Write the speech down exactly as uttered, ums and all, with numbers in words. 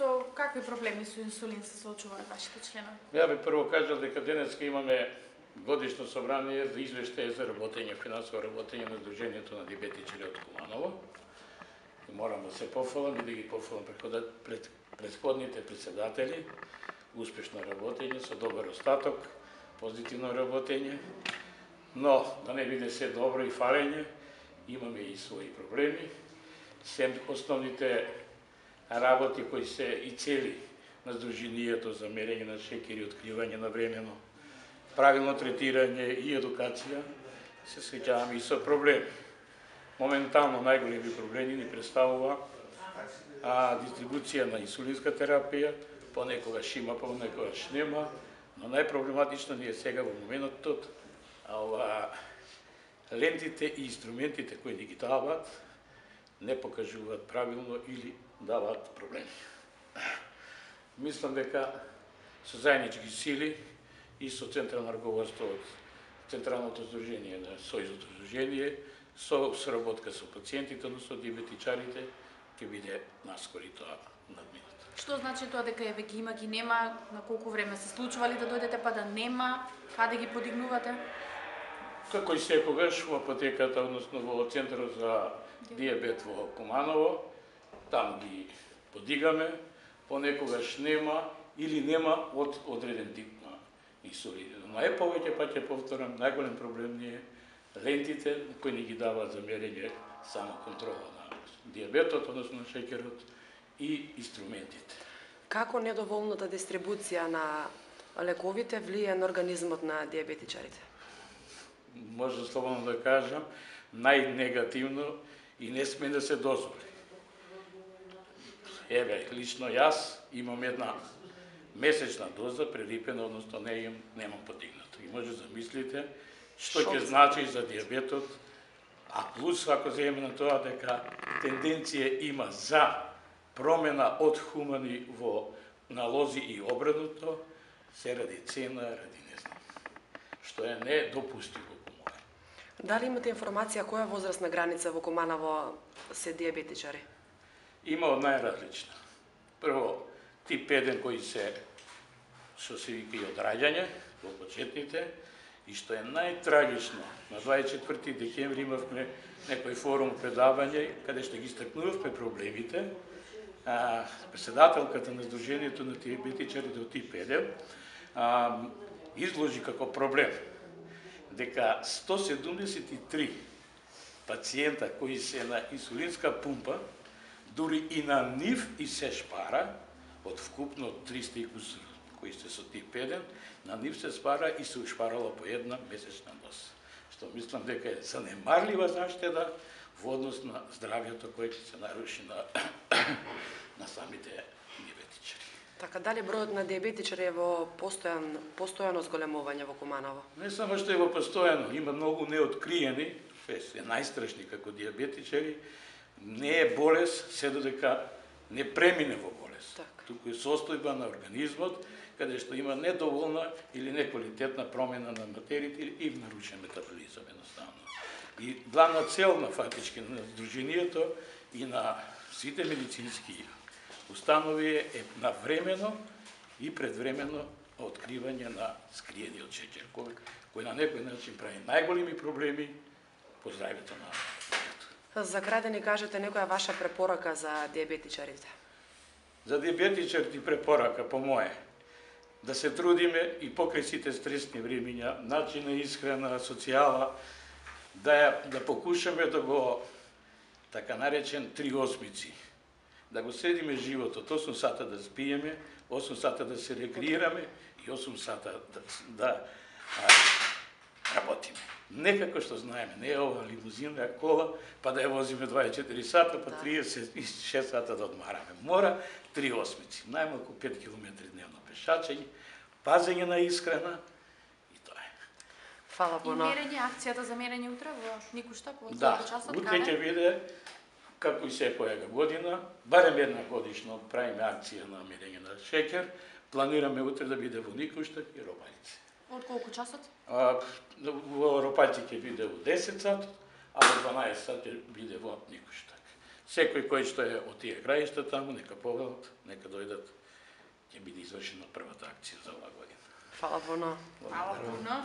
со какви проблеми со инсулин се соочуваат вашите членови? Ја би прво кажал дека денеска имаме годишно собрание за извештај за работење, финансово работење на Сдруженијето на диабетичари од Куманово. И морам да се пофалам и да ги пофалам пред претходните председатели, успешно работење, со добар остаток, позитивно работење, но да не биде се добро и фалење, имаме и своји проблеми. Сем основните работи кои се и цели на Сдруженијето за мерење на шеќер и откривање на времено, правилно третирање и едукација, се среќаваме и со проблеми. Моментално најголеми проблеми ни представува а, дистрибуција на инсулинска терапија, понекогаш има, понекогаш нема, но најпроблематично ни е сега во моментот а ова лентите и инструментите кои ни ги даваат не покажуваат правилно или даваат проблеми. Мислам дека со заеднички сили и со централно раководство од Централното здружение на Сојузното здружение, со соработка со пациентите, но со диабетичарите, ќе биде наскори тоа надминато. Што значи тоа дека е веќе има ги нема, на колку време се случували да дојдете па да нема, каде ги подигнувате? Како и секогаш во апотеката, односно во Центарот за диабет во Куманово, там ги подигаме, понекогаш нема или нема од одреден тип на инсулин. Најповеќе, па ќе повторам, најголем проблем ни е лентите кои ни ги даваат за мерење само контрола на диабетот, односно на шеќерот и инструментите. Како недоволната дистрибуција на лековите влие на организмот на диабетичарите? Може слободно да кажам, најнегативно и не сме да се дозволи. Еве, лично јас имам една месечна доза прелипена, односно не имам, немам подигнато. И може да замислите што ќе значи за диабетот, а плюс ако земеме на тоа дека тенденција има за промена од хумани во налози и обратното, се ради цена, ради не знам, што е недопустиво. Дали имате информација која возрастна граница во Куманово се диабетичари? Има од најразлична. Прво, тип еден кои се, што се вика и од раѓање, во почетните, и што е најтрагично, на дваесет и четврти декември имавме некој форум предавање, каде што ги стакнувавме проблемите, а, председателката на Сдруженијето на диабетичарите од тип еден а, изложи како проблем дека сто седумдесет и три пациента кои се на инсулинска пумпа, дури и на нив и се шпара, од вкупно триста и кусур кои се со тип еден, на нив се спара и се ушпарала по една месечна доза. Што мислам дека е занемарлива заштеда во однос на здравјето кој ќе се наруши на, на самите диабетичари. Така, дали бројот на диабетичари е во постојан, постојано зголемување во Куманово? Не само што е во постојано, има многу неоткриени, што е најстрашни како диабетичари, не е болест се додека не премине во болест. Так. Туку е состојба на организмот, каде што има недоволна или неквалитетна промена на материите и нарушен метаболизам едноставно. И главна цел на фактички на Сдруженијето и на сите медицински установи е навремено и предвремено откривање на скриениот шеќер, кој, кој на некој начин прави најголеми проблеми по здравјето на детето. За крај да ни кажете некоја ваша препорака за диабетичарите? За диабетичарите препорака по моје да се трудиме и покрај сите стресни времиња, начин на исхрана, социјала, да да покушаме да го така наречен три осмици. Да го следиме животот, осум сата да спиеме, осум сата да се рекреираме и осум сата да, да а, работиме. Некако што знаеме, не е ова лимузина, кола, па да ја возиме дваесет и четири сата, па триесет и шест сата да одмараме. Мора три осмици, најмалку пет километри дневно пешачење, пазење на исхрана и тоа е. Фала puno. I мерење, акцијата за мерење утре во Никуштап од да, колку часот? утре ќе биде, како и секоја година, барем една годишно правиме акција на мерење на шеќер, планираме утре да биде во Никуштап и Ропајци. Од колку часот? А, во Ропајци ќе биде во десет сат, а во дванаесет сат ќе биде во Никуштап. Секој кој што е од тие краишта таму, нека погледат, нека дојдат, ќе биде извршена првата акција за оваа година. Фала puno. Фала puno.